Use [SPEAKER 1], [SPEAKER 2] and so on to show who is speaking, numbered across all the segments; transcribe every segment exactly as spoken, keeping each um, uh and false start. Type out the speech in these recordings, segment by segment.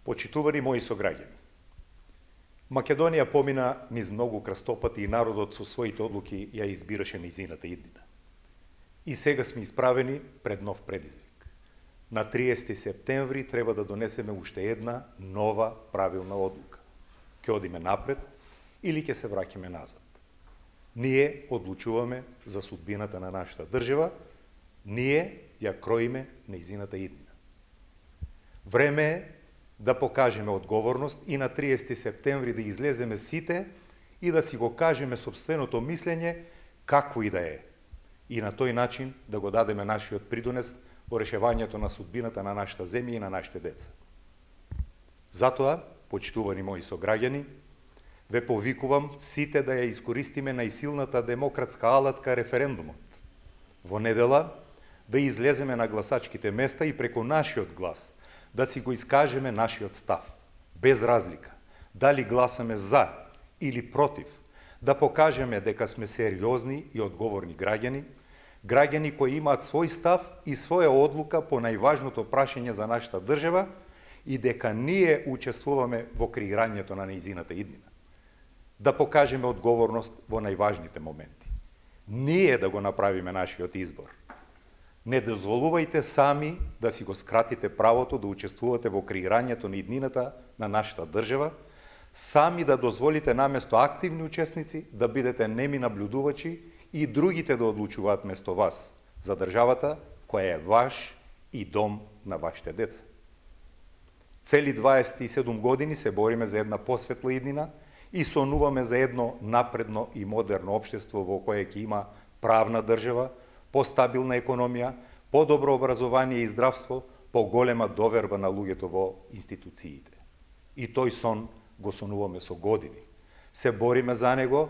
[SPEAKER 1] Почитувани мои сограѓани, Македонија помина низ многу крстопати и народот со своите одлуки ја избираше нејзината иднина. И сега сме исправени пред нов предизвик. На триесети септември треба да донесеме уште една нова правилна одлука. Ќе одиме напред или ќе се враќаме назад. Ние одлучуваме за судбината на нашата држава, ние ја кроиме нејзината иднина. Време е да покажеме одговорност и на триесети септември да излеземе сите и да си го кажеме собственото мислење какво и да е. И на тој начин да го дадеме нашиот придонес во решевањето на судбината на нашата земја и на нашите деца. Затоа, почитувани мои сограѓани, ве повикувам сите да ја искористиме најсилната демократска алатка референдумот. Во недела да излеземе на гласачките места и преку нашиот глас да си го искажеме нашиот став, без разлика, дали гласаме за или против, да покажеме дека сме сериозни и одговорни граѓани, граѓани кои имаат свој став и своја одлука по најважното прашање за нашата држава и дека ние учествуваме во креирањето на нејзината иднина. Да покажеме одговорност во најважните моменти. Ние да го направиме нашиот избор. Не дозволувајте сами да си го скратите правото да учествувате во креирањето на иднината на нашата држава, сами да дозволите наместо активни учесници да бидете неми наблюдувачи и другите да одлучуваат место вас за државата која е ваш и дом на вашите деца. Цели дваесет и седум години се бориме за една посветла иднина и сонуваме за едно напредно и модерно општество во кое ќе има правна држава, постабилна економија, подобро образование и здравство, поголема доверба на луѓето во институциите. И тој сон го сонуваме со години. Се бориме за него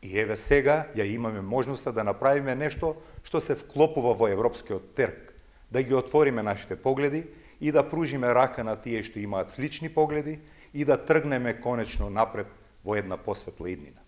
[SPEAKER 1] и еве сега ја имаме можноста да направиме нешто што се вклопува во европскиот терк, да ги отвориме нашите погледи и да пружиме рака на тие што имаат слични погледи и да тргнеме конечно напред во една посветла иднина.